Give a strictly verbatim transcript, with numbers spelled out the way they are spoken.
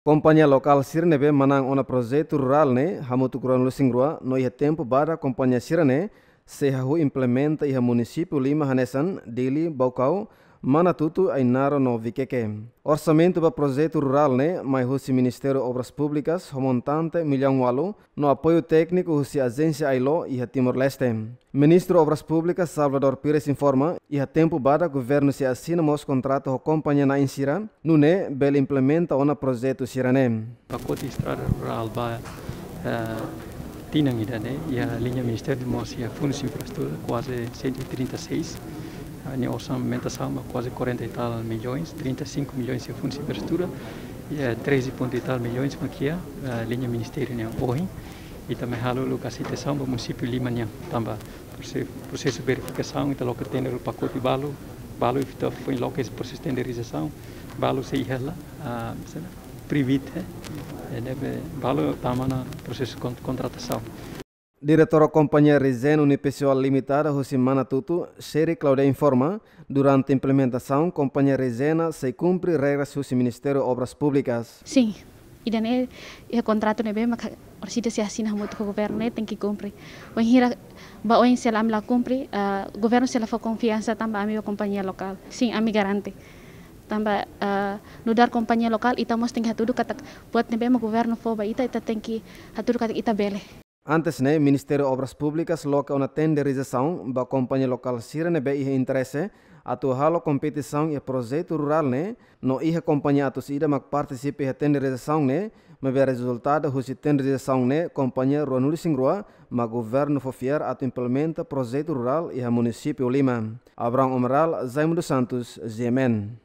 Kompañia lokál sira ne'ebé manán ona projetu rurál ne'e hamutuk ruanulu-resin-rua, no iha tempu badak kompañia sira-ne'e sei hahú implementa iha munisípiu lima hanesan Dili, Baucau, Manatuto, Ainaro no Viqueque. Orsamentu ba projetu rurál ne'e mai husi Ministériu Obras Públikas ho montante millaun ualu, no apoiu tékniku husi ajénsia ILO iha Timor-Leste. Ministru Obras Públikas Salvador Pires informa, iha tempu badak governu sei asina mós kontratu ho kompañia na'in sira, nune'e bele implementa ona projetu sira-ne'e. Pakote estrada rurál ba, eh, tinan ida-ne'e, iha liña ministériu mós iha fundu infraestrutura, kuaze cento e trinta e seis. Ah, nia orsamentasaun ba kuaze quarenta e tal milhões, trinta e cinco milhões iha fundu infraestrutura, iha treze ponto e tal milhões mak iha, eh, liña ministériu nian ohin. I também halo lokasitasaun ba munisípiu lima nian, tanba prose-, prosesu verifikasaun, ita loke tender pakote balu, balu ita foin loke prosesu tenderizasaun, balu sei iha la, ah, sei la, privit, eh, eh, ne'ebé balu tama ona prosesu kon-, kontratasaun. Diretora Kompañia Regen Unipessoal Limitada husi Manatuto, Sherry Claudia informa, durante implementasaun, kompañia Regen sei kumpre regras husi Ministériu Obras Públikas. Sin, ida-ne'e iha kontratu ne'ebé maka orsida sei asina hamutuk ho governu ne'e tenke kumpre. Wainhira ba oin se la, ami la kumpre, ah, governu sei la fó konfiansa tanba ami ba kompañia lokál. Sin, ami garante. Tanba, ah, nu'udar kompañia lokál, ita mós tenke hatudu katak buat ne'ebé mak governu fó ba ita, ita tenke hatudu katak ita bele. Antes ne'e, Ministériu Obras Públikas loke ona tenderizasaun ba kompañia lokál sira ne'ebé iha interese atu halo kompetisaun iha projetu rurál ne'e, no iha kompañia atus ida mak partisipa iha tenderizasaun ne'e, maibé rezultadu husi tenderizasaun ne'e kompañia ruanulu-resin-rua mak governu fó fiar atu implementa projetu rurál iha munisípiu lima. Abrão Amaral, Zaimo dos Santos, G M N.